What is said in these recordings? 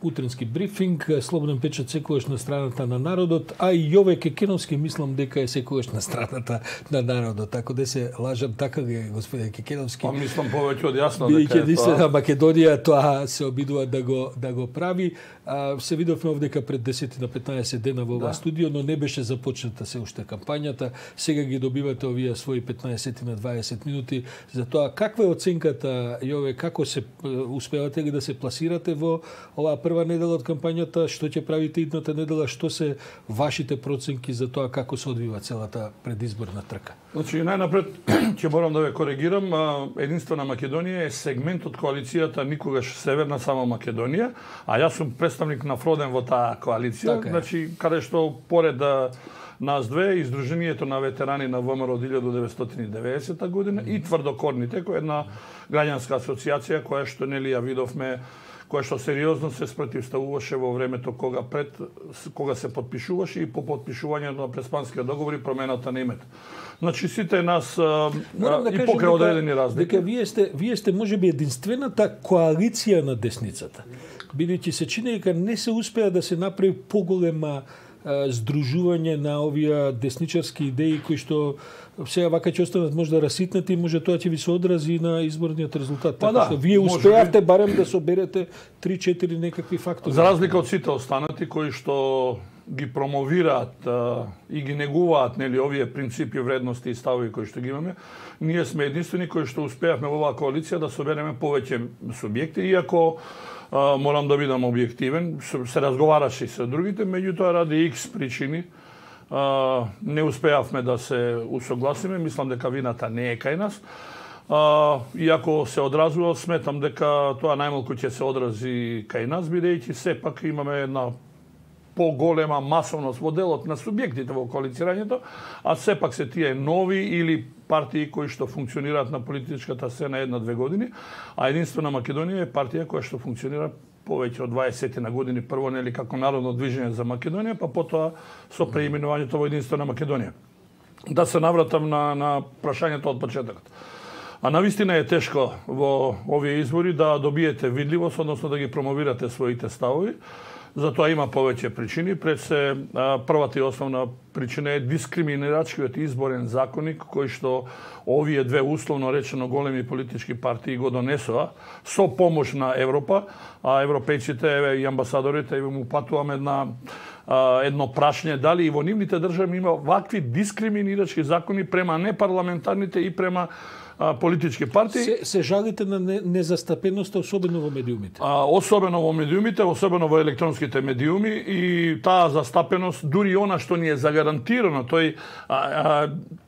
утренски брифинг, Слободен печат секогаш на страната на народот, а и Јове Кекеновски мислам дека е секогаш на страната на народот. Така да се лажам, така е господин Кекеновски. Па мислам повеќе од јасно дека е тоа. Македонија тоа се обидува да го прави. Се видовме овдека пред 10 на 15 дена во ова студио, но не беше започната се уште кампањата. Сега ги добивате овие своји 15 на 20 минути. За тоа каква е оценката, Јове, како се успевате ли да се пласирате во оваа прва недела од кампањата, што ќе правите идната недела, што се вашите проценки за тоа како се одвива целата предизборна трка? Значи, најнапред ќе морам да ве коригирам. Единствена Македонија е сегмент од коалицијата никогаш Северна само Македонија, а јас сум представник на Фроден во таа коалиција, така значи каде што поред нас две, Издруженијето на ветерани на ВМРО од 1990 година и Тврдокорните, која е една граѓанска асоциација која што нели ја видовме, која што сериозно се спротивставуваше во времето кога се подпишуваше и по подпишувањето на Преспанскиот договор и промената на името. Значи сите нас и покрај одредени разлики. Дека вие сте можеби единствената коалиција на десницата. Бидејќи се чини дека не се успеа да се направи поголема здружување на овие десничарски идеи кои што сега вака ќе останат можда раситнати и може тоа ќе ви се одрази на изборниот резултат. Така што вие успеавте барем да соберете 3-4 некакви фактори. За разлика од сите останати кои што ги промовираат и ги негуваат нели овие принципи, вредности и ставови кои што ги имаме, ние сме единствени кои што успеавме во оваа коалиција да собереме повеќе субјекти, иако морам да бидам објективен, се разговараше и со другите, меѓутоа ради X причини не успеавме да се усогласиме. Мислам дека вината не е кај нас. Иако се одразува, сметам дека тоа најмалку ќе се одрази кај нас, бидејќи сепак имаме една поголема масовност во делот на субјектите во коалицирањето, а сепак се тие нови или партии кои што функционираат на политичката сцена 1-2 години, а Единствена Македонија е партија која што функционира повеќе од 20 на години, прво нели како народно движење за Македонија, па потоа со преименувањето во Единствена Македонија. Да се навратам на прашањето од почетокот. А навистина е тешко во овие избори да добиете видливост, односно да ги промовирате своите ставови. Затоа има повеќе причини. Пред се првата и основна причина е дискриминирачкиот изборен законник кој што овие две условно речено големи политички партии го донесоа со помош на Европа, а европејците и амбасадорите му упатуваме едно прашање дали и во нивните држави има вакви дискриминирачки закони према непарламентарните и према политички партии. Се жалите на незастапеноста, особено во медиумите? Особено во медиумите, особено во електронските медиуми, и таа застапеност, дури она што ни е загарантирано,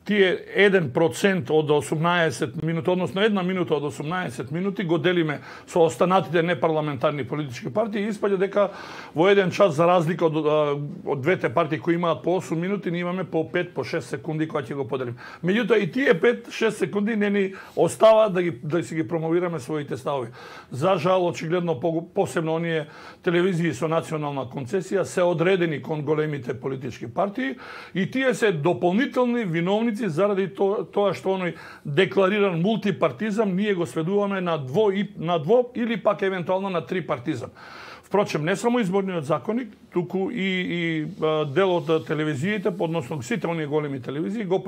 тие 1% од 18 минути, односно 1 минута од 18 минути го делиме со останатите непарламентарни политички партии и испаѓа дека во еден час, за разлика од двете партии кои имаат по 8 минути, ние имаме по 5, по 6 секунди кои ќе го поделиме. Меѓутоа и тие 5-6 секунди не ни остава да си ги промовираме своите ставови. За жал, очигледно посебно оние телевизии со национална концесија се одредени кон големите политички партии и тие се дополнителни виновници заради тоа што оној деклариран мултипартизам ние го сведуваме на дво или пак евентуално на трипартизам. Впрочем, не само изборниот законник, туку и дел од телевизиите, односно сите оние големи телевизии го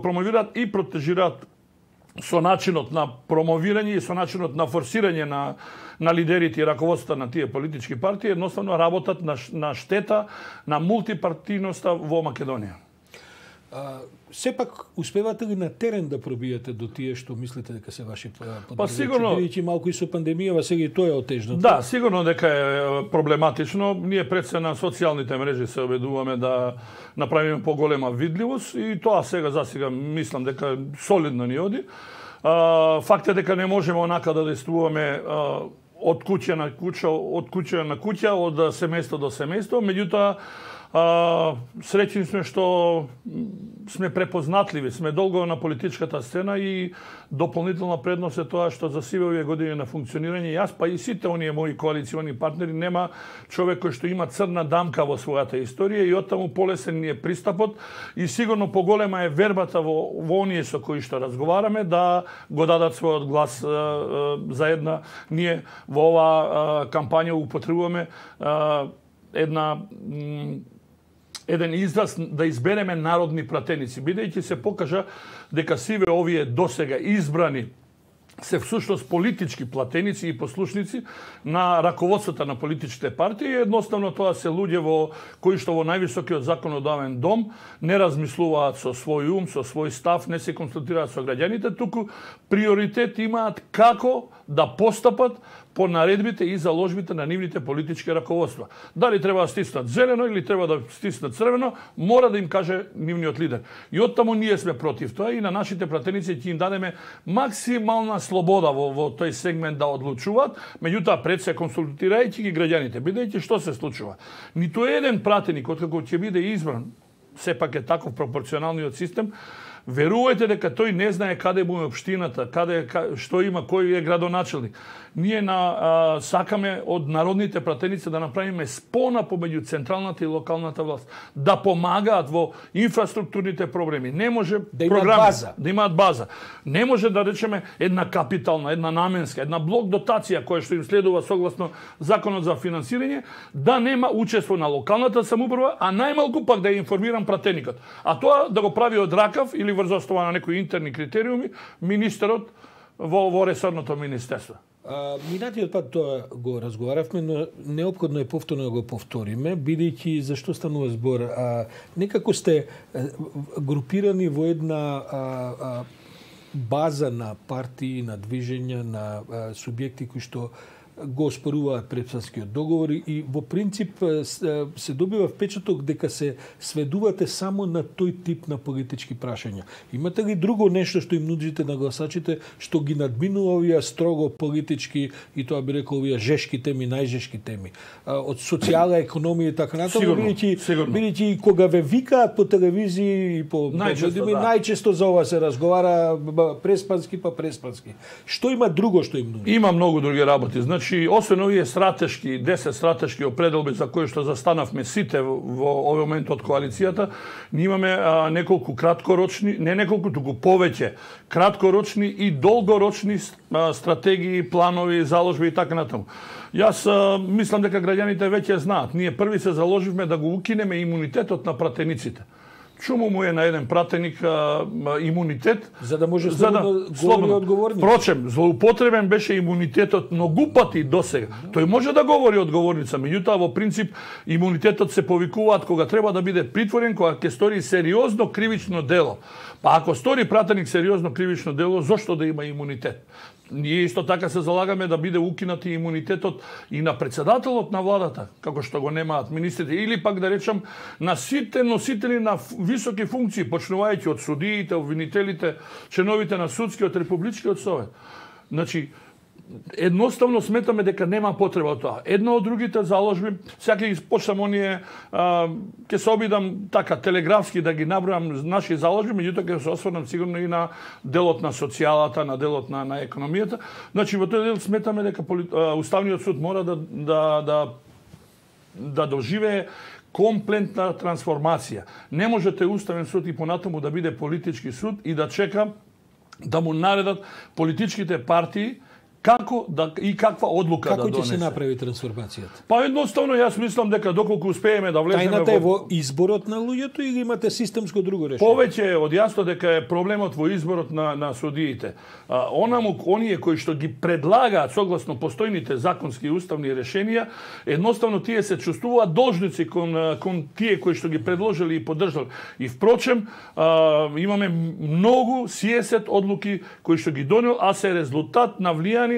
промовираат и протежираат со начинот на промовирање и со начинот на форсирање на лидерите и раководството на тие политички партии, едноставно работат на штета на мултипартијноста во Македонија. Сепак успевате ли на терен да пробиете до тие што мислите дека се ваши поддржувачи? Па сигурно, бидејќи малку и со пандемијава сега и тоа е отежно. Да, сигурно дека е проблематично. Ние пред се на социјалните мрежи се обедуваме да направиме поголема видливост и тоа засега мислам дека солидно ни оди. Факт е дека не можеме онака да действуваме од куќа на куќа, од семејство до семејство, меѓутоа среќни сме што сме препознатливи, сме долго на политичката сцена и дополнителна предност е тоа што за сиве овие години на функционирање јас па и сите оние мои коалициони партнери нема човек кој што има црна дамка во својата историја и оттаму полесен ни е пристапот и сигурно поголема е вербата во оние со кои што разговараме да го дадат својот глас за една. Ние во оваа кампања употребуваме еден израз да избереме народни пратеници, бидејќи се покажа дека сиве овие досега избрани се всушност политички платеници и послушници на раководството на политичките партии. Едноставно тоа се луѓе кои што во највисокиот законодавен дом не размислуваат со свој ум, со свој став, не се консултираат со граѓаните, туку приоритет имаат како да постапат по наредбите и заложбите на нивните политички раководства. Дали треба да стиснат зелено или треба да стиснат црвено, мора да им каже нивниот лидер. И оттаму ние сме против тоа и на нашите пратеници ќе им дадеме максимална слобода во тој сегмент да одлучуваат, меѓутоа пред се консултирајќи ги граѓаните, бидејќи што се случува. Ниту еден пратеник откако ќе биде избран, сепак е таков пропорционалниот систем, верувајте дека тој не знае каде му е општината, што има, кој е градоначелник. Ние сакаме од народните пратеници да направиме спона помеѓу централната и локалната власт, да помагаат во инфраструктурните проблеми. Не може да имаат база. Не може да речеме една капитална, една наменска, една блок дотација која што им следува согласно законот за финансирање, да нема учество на локалната самоуправа, а најмалку пак да ја информирам пратеникот. А тоа да го прави од ракав или врз основа на некои интерни критериуми министерот во ресорното министерство. Минатиот пат тоа го разговаравме, но неопходно е повторно да го повториме, бидејќи зашто станува збор. Некако сте групирани во една база на партии, на движења, на субјекти кои што го оспоруваат предпанскиот договор и во принцип се добива впечаток дека се сведувате само на тој тип на политички прашања. Имате ли друго нешто што им нудите на гласачите што ги надминува овие строго политички и тоа би рекол овие жешки теми, најжешки теми? Од социјална економија и така натаму, бидејќи кога ве викаат по телевизии и по медиуми, најчесто за ова се разговара преспански. Што има друго што им нуди? Има многу други работи. Значи, освен овие 10 стратешки определби за кои што застанавме сите во овој момент од коалицијата, ние имаме неколку краткорочни, не неколку, туку повеќе краткорочни и долгорочни стратегии, планови, заложби и така натаму. Јас мислам дека граѓаните веќе знаат. Ние први се заложивме да го укинеме имунитетот на пратениците. Чуму му е на еден пратеник имунитет за да може слободно одговорни. Впрочем, злоупотребен беше имунитетот многу пати досега. Тој може да говори одговорница, меѓутоа во принцип имунитетот се повикуваат кога треба да биде притворен, кога ќе стори сериозно кривично дело. Па ако стори пратеник сериозно кривично дело, зошто да има имунитет? Ние исто така се залагаме да биде укинат и имунитетот и на председателот на владата, како што го немаат министрите, или пак да речам на сите носители на високи функции, почнувајќи од судиите, обвинителите, членовите на судскиот републичкиот совет. Значи, едноставно сметаме дека нема потреба од тоа. Една од другите заложби, сега ги почнам оние, ќе се обидам така телеграфски да ги набројам наши заложби, меѓутоа ќе се осврнам сигурно и на делот на социјалата, на делот на економијата. Значи во тој дел сметаме дека Уставниот суд мора да доживее комплетна трансформација. Не можете Уставен суд и понатаму да биде политички суд и да чека да му наредат политичките партии како и каква одлука да донесе. Како ќе се направи трансформацијата? Па едноставно јас мислам дека доколку успееме да влеземе тајната е во изборот на луѓето или имате системско друго решение? Повеќе е од јасно дека е проблемот во изборот на судиите. Оние кои што ги предлагаат согласно постојните законски и уставни решенија, едноставно тие се чувствуваат должници кон тие кои што ги предложили и поддржали. И впрочем, имаме многу сиесет одлуки кои што ги донел, а се резултат на влијание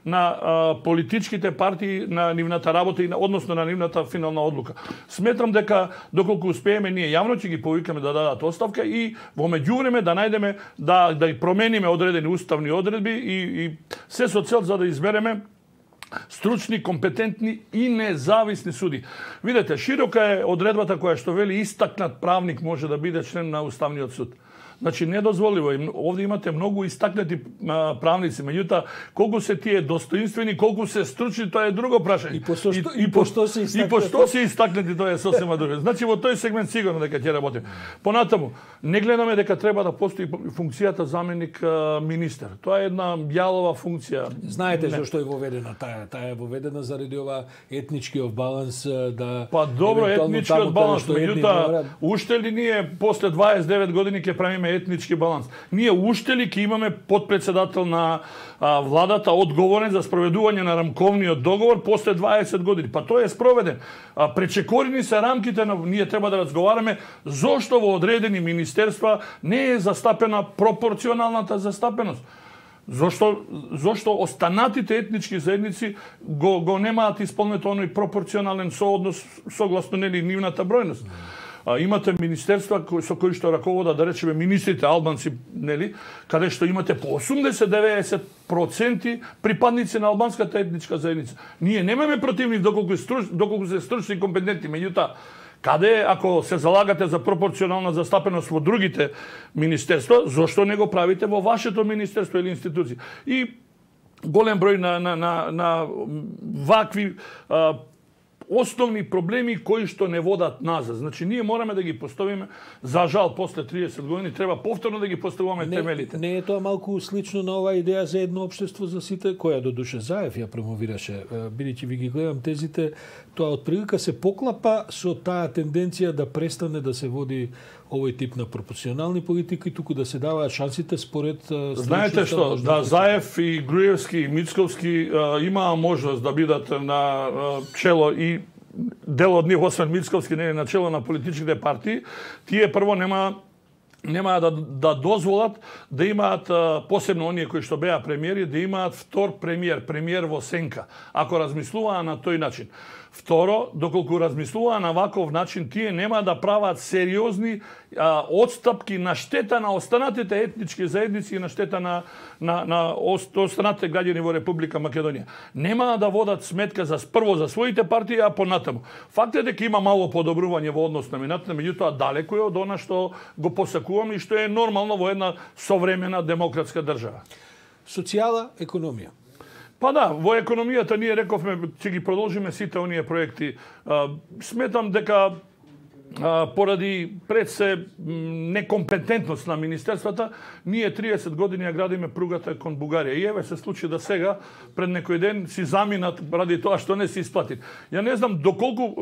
на политичките партии, на нивната работа и односно на нивната финална одлука. Сметам дека доколку успееме ние јавно ќе ги повикаме да дадат оставка и во меѓувреме да најдеме да промениме одредени уставни одредби и се со цел за да избереме стручни, компетентни и независни суди. Видете, широка е одредбата која што вели истакнат правник може да биде член на Уставниот суд. Значи, недозволиво. Овде имате многу истакнати правници, меѓутоа, колку се тие достоинствени, колку се стручни, тоа е друго прашање. И пошто се истакнати, тоа е сосема друго. Значи, во тој сегмент сигурно дека ќе работим. Понатаму, не гледаме дека треба да постои функцијата заменик министер. Тоа е една јалова функција. Знаете зашто е воведена таа? Таа е воведена заради ова етничкиот баланс да... Па добро, етничкиот баланс, меѓутоа, уште ли ние после 29 години ќе правиме етнички баланс? Ние уште ли ќе имаме подпредседател на владата одговорен за спроведување на рамковниот договор после 20 години? Па тој е спроведен. Пречекорени се рамките на... Ние треба да разговараме зошто во одредени министерства не е застапена пропорционалната застапеност. Зошто останатите етнички заедници го немаат исполнет оној пропорционален сооднос согласно нели нивната бројност. Имате министерства со кои што раководат, да речеме, министрите албанци, нели, каде што имате по 80-90% припадници на албанската етничка заедница. Ние немаме против нив доколку се стручни и компетентни, меѓутоа, каде ако се залагате за пропорционална застапеност во другите министерства, зошто не го правите во вашето министерство или институција? И голем број на вакви основни проблеми кои што не водат назад. Значи, ние мораме да ги поставиме, за жал, после 30 години, треба повторно да ги поставуваме темелите. Не е тоа малку слично на оваа идеја за едно општество за сите, која до душа Заев ја промовираше, бидејќи ви ги гледам тезите, тоа отприлика се поклапа со таа тенденција да престане да се води овој тип на пропорционални политики, туку да се даваат шансите според... Знаете што, да Заев и Груевски и Мицковски имаа можност да бидат на чело и дел од нив, освен Мицковски, не е на чело на политичките партии, тие прво нема да дозволат да имаат, посебно оние кои што беа премиери, да имаат втор премиер во сенка, ако размислуваа на тој начин. Второ, доколку размислуваа на ваков начин, тие нема да прават сериозни отстапки на штета на останатите етнички заедници и на штета на останатите граѓани во Република Македонија. Нема да водат сметка прво за своите партии, а понатаму. Факт е дека има мало подобрување во однос на минатата, меѓутоа далеку е од она што го посакуваме и што е нормално во една современа демократска држава. Социјала, економија. Па да, во економијата ние рековме ќе ги продолжиме сите оние проекти. Сметам дека поради пред се некомпетентност на министерствата, ние 30 години ја градиме пругата кон Бугарија. И еве се случи да сега, пред некој ден, си заминат ради тоа што не се исплати. Ја не знам доколку,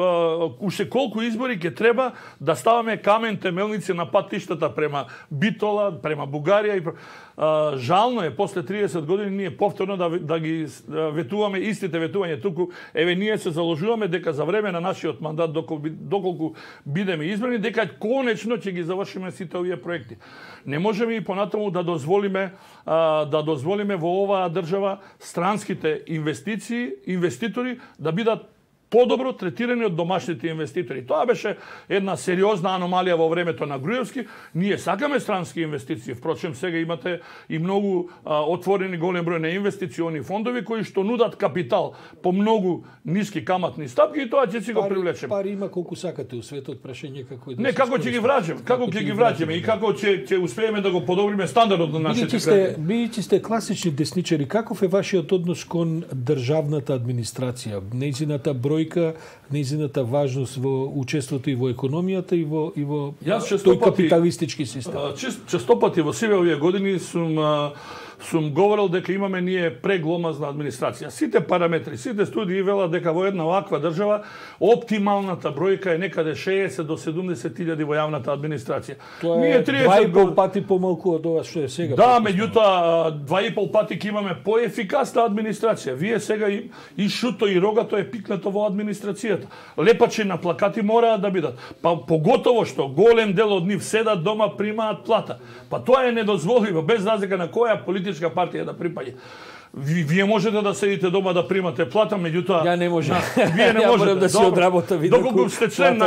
уште колку избори ќе треба да ставаме камен темелници на патиштата према Битола, према Бугарија и жално е после 30 години ние повторно да ги ветуваме истите ветувања туку. Еве ние се заложуваме дека за време на нашиот мандат доколку бидеме избрани, дека конечно ќе ги завршиме сите овие проекти. Не можеме и понатаму да дозволиме во оваа држава странските инвеститори да бидат подобро третирани од домашните инвеститори. Тоа беше една сериозна аномалија во времето на Груевски. Ние сакаме странски инвестиции. Впрочем, сега имате и многу отворени голем број на инвестициони фондови кои што нудат капитал по многу ниски каматни стапки и тоа ќе си го привлечеме. Пари има колку сакате у светот, прашање како да. Не, како ќе ги враќаме, како ќе ги враќаме и како ќе успееме да го подобриме стандардот на нашите граѓани. Бидејќи сте класични десничари, каков е вашиот однос кон државната администрација, нејзината бројка, нејзината важност во учеството и во економијата и во тој капиталистички систем? Често пати во сиве овие години сум говорил дека имаме ние прегломазна администрација. Сите параметри, сите студии велат дека во една ваква држава оптималната бројка е некаде 60 до 70 илјади во јавната администрација. Тоа е 2,5 пати помалку од ова што е сега. Да, меѓутоа 2,5 пати ќе имаме поефикасна администрација. Вие сега и шуто и рогато е пикнато во администрацијата. Лепачи на плакати мораат да бидат. Па поготово што голем дел од нив седат дома, примаат плата. Па тоа е недозволиво без разлика на која политичка партија да припаѓа. Вие можете да седите дома да примате плата, меѓутоа ја не можам. Вие не можете да си одработам доколку сте член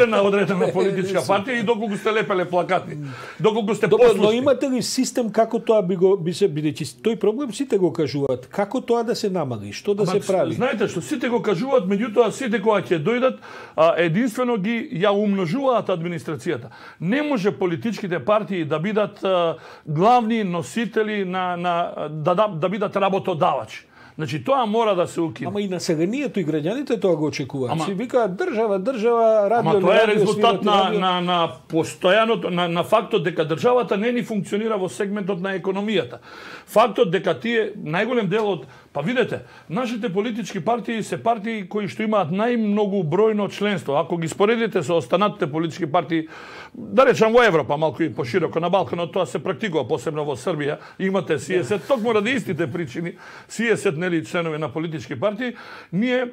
на одредена политичка партија и доколку сте лепеле плакати. Доколку сте послушни. Но имате ли систем како тоа би се бидејќи тој проблем сите го кажуваат, како тоа да се намали, што да се прави? Знаете што сите го кажуваат, меѓутоа сите кога ќе дојдат единствено ги ја умножуваат администрацијата. Не може политичките партии да бидат главни носители да бидат работодавачи. Значи тоа мора да се укине. Ама и населението и граѓаните тоа го очекуваат. Си викаат држава, радио. Ама тоа е резултат на постојаното на фактот дека државата не ни функционира во сегментот на економијата. Фактот дека тие најголем дел од видете, нашите политички партии се партии кои што имаат најмногу бројно членство. Ако ги споредите со останатите политички партии, да речам во Европа, малку и пошироко на Балканот, тоа се практикува, посебно во Србија. Имате СИЕСЕТ, токму ради истите причини, СИЕСЕТ, нели, членови на политички партии, ние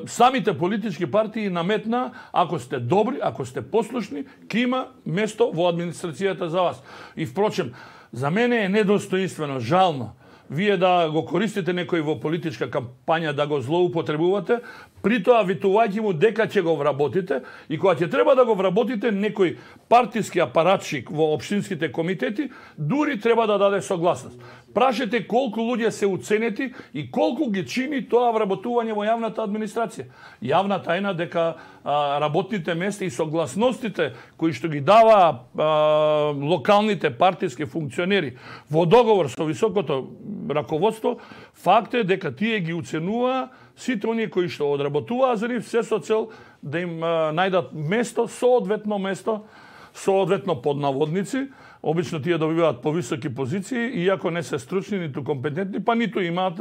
самите политички партии наметна, ако сте добри, ако сте послушни, ќе има место во администрацијата за вас. И впрочем, за мене е недостоинствено, жално, вие да го користите некој во политичка кампања, да го злоупотребувате, при тоа витувајќи му дека ќе го вработите, и кога ќе треба да го вработите, некој партиски апаратчик во општинските комитети дури треба да даде согласност. Прашете колку луѓе се уценети и колку ги чини тоа вработување во јавната администрација. Јавна тајна дека работните места и согласностите кои што ги дава локалните партиски функционери во договор со високото раководство, факт е дека тие ги уценуваа сите оние кои што одработуваа за нив, се со цел да им најдат соодветно под наводници. Обично тие добиваат повисоки позиции, иако не се стручни, ниту компетентни, па ниту имаат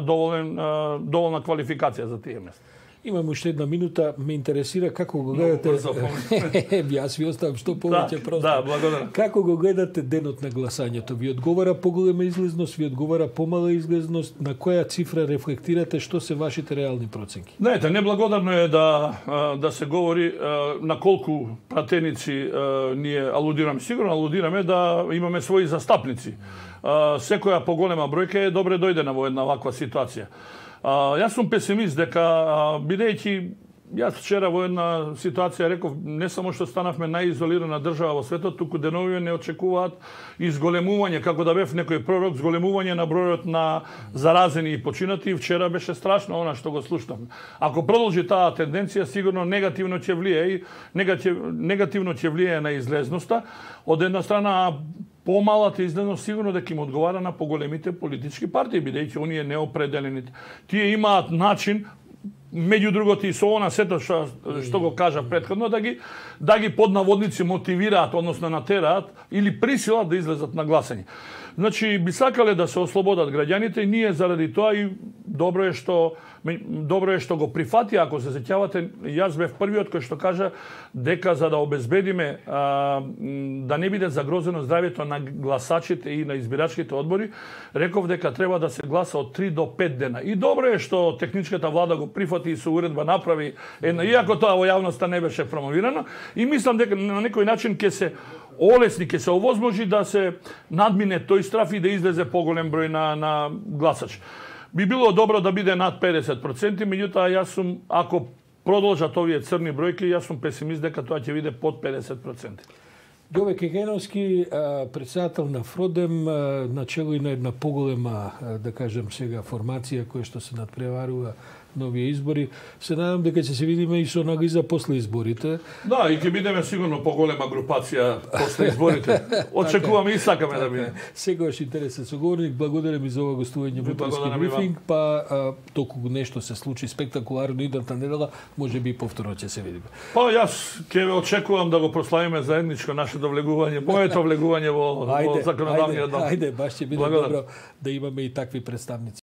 доволна квалификација за тие места. Имам уште една минута, ме интересира како го гледате. Јас ви оставам што повеќе просто. Да, благодарам. Како го гледате денот на гласањето? Ви одговара поголема излезност, ви одговара помала излезност, на која цифра рефлектирате, што се вашите реални проценки? Знаете, неблагодарно е да се говори на колку пратеници ние алудираме. Сигурно алудираме да имаме своји застапници. Секоја поголема бројка е добре дојдена во една ваква ситуација. Јас сум песимист дека, бидејќи јас вчера во една ситуација реков, не само што станавме најизолирана држава во светот, туку деновиве не очекуваат изголемување, како да бев некој пророк, зголемување на бројот на заразени и починати. Вчера беше страшно она што го слушнавме. Ако продолжи таа тенденција, сигурно негативно ќе влие на излезноста. Од една страна, помалата излезност сигурно дека им одговара на поголемите политички партии, бидејќи оние неопределените. Тие имаат начин, меѓу другото и со она сето што го кажа претходно, да ги под наводници мотивираат, односно натераат или присилат да излезат на гласање. Значи, би сакале да се ослободат граѓаните, и ние заради тоа и добро е што го прифати. Ако се сеќавате, јас бев првиот кој што кажа дека за да обезбедиме да не биде загрозено здравјето на гласачите и на избирачките одбори, реков дека треба да се гласа од 3 до 5 дена. И добро е што техничката влада го прифати и со уредба направи, иако тоа во јавноста не беше промовирано, и мислам дека на некој начин ќе се олесни, ќе се овозможи да се надмине тој страф и да излезе поголем број на гласачи. Би било добро да биде над 50%, меѓутоа јас сум, ако продолжат овие црни бројки, јас сум песимист дека тоа ќе биде под 50%. Ѓове Кекеновски, председател на Фродем, начело и на една поголема, да кажем сега, формација која што се надпреварува на овие избори. Се надам дека ќе се видиме и со анализа после изборите. Да, и ќе бидеме сигурно поголема групација после изборите. Очекуваме и сакаме да биде. Сегаш интересен соговорник, благодарам и за ова гостување во Утрески брифинг, па толку нешто се случи спектакуларно идната недела, можеби и повторно ќе се видиме. Па јас ќе ве очекувам да го прославиме заедничко нашето влегување, моето влегување во законодавниот дом. Ајде, баш ќе биде добро да имаме и такви представници.